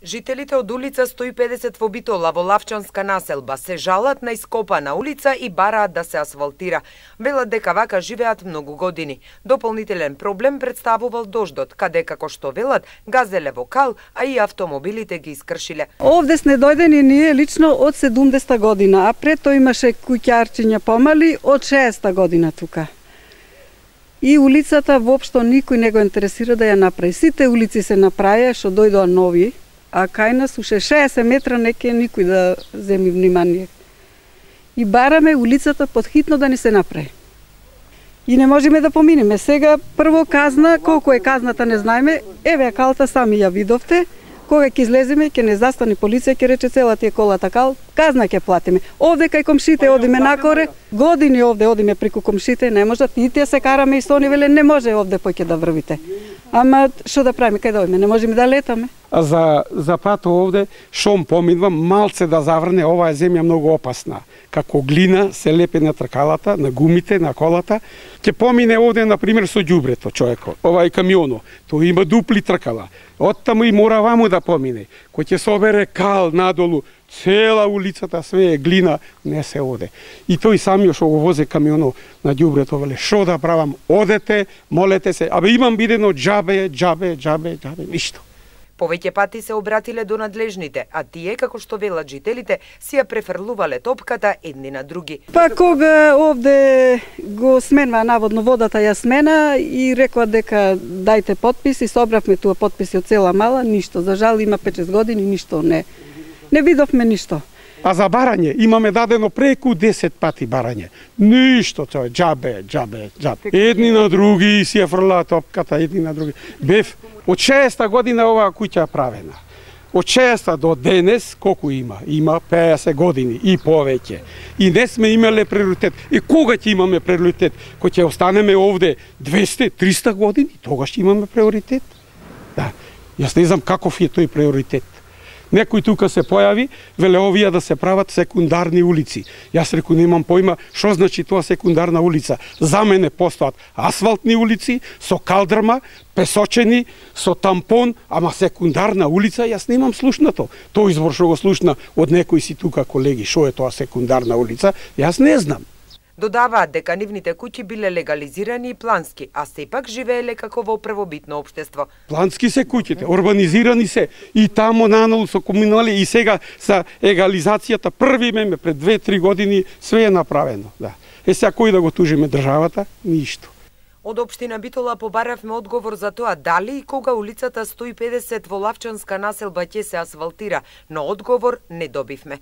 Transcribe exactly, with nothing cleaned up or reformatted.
Жителите од улица сто и педесет во Битола во Лавчанска населба се жалат на ископана улица и бараат да се асфалтира. Велат дека вака живеат многу години. Дополнителен проблем представувал дождот, каде како што велат газеле во кал, а и автомобилите ги искршиле. Овде сме дојдени ние лично од седумдесета година, а пред тоа имаше куќарчиња помали од шеесета година тука. И улицата воопшто никој не го интересира да ја направи. Сите улици се направија што дојдоа нови, а кај нас уше шеесет метра не ке никој да земи внимание. И бараме улицата подхитно да ни се направи. И не можеме да поминеме. Сега прво казна, колку е казната не знаеме, еве калта сами ја видовте. Кога ќе излеземе, ќе не застани полиција, ќе рече цела тие колата кал, казна ќе платиме. Овде кај комшите одиме накоре, години овде одиме преку комшите, не можат, и тие се караме и со они веле не може овде поќе да врвите. Ама што да правиме, кај да одиме, не можеме да летаме. А за за пато овде шом помидвам малце да заврне, оваа земја многу опасна. Како глина се лепе на тркалата, на гумите, на колата. Ќе помине овде на пример со ѓубрето човекот. Ова е камионо, тој има дупли тркала. Оттаму и мора ваму да помине. Кој ќе собере кал надолу, цела улицата све е глина, не се оде. И тој самиот што го возе камионо на ѓубрето веле што да правам? Одете, молете се, абе имам бидено џабе, џабе, џабе, џабе, ништо. Повеќе пати се обратиле до надлежните, а тие, како што велат жителите, си ја префрлувале топката едни на други. Па кога овде го сменва наводно водата ја смена и рекла дека дајте подписи, собравме туа подписи од цела мала, ништо. За жал има пет-шест години, ништо не. Не видовме ништо. А за барање имаме дадено преку десет пати барање. Ништо, тоа џабе, џабе, џабе. Едни на други си ја фрлаа топката, едни на други. Бев од шеесета година оваа куќа правена. Од шеесета до денес колку има? Има пеесет години и повеќе. И не сме имале приоритет. И кога ќе имаме приоритет? Кога ќе останеме овде двесте, триста години, тогаш ќе имаме приоритет. Да. Јас не знам каков е тој приоритет. Некој тука се појави, веле овие да се прават секундарни улици. Јас реку немам појма што значи тоа секундарна улица. За мене постојат асфалтни улици со калдрма, песочени, со тампон, ама секундарна улица јас немам слушнато. Тој извор што го слушна од некои си тука колеги, што е тоа секундарна улица, јас не знам. Додаваат дека нивните куќи биле легализирани и плански, а сепак живееле како во првобитно општество. Плански се куќите, урбанизирани се и тамо нанолу со комунали и сега sa егализацијата први меме пред две-три години све е направено. Да. Е сега кој да го тужиме државата? Ништо. Од општина Битола побаравме одговор за тоа дали и кога улицата сто и педесет во Лавчанска населба ќе се асфалтира, но одговор не добивме.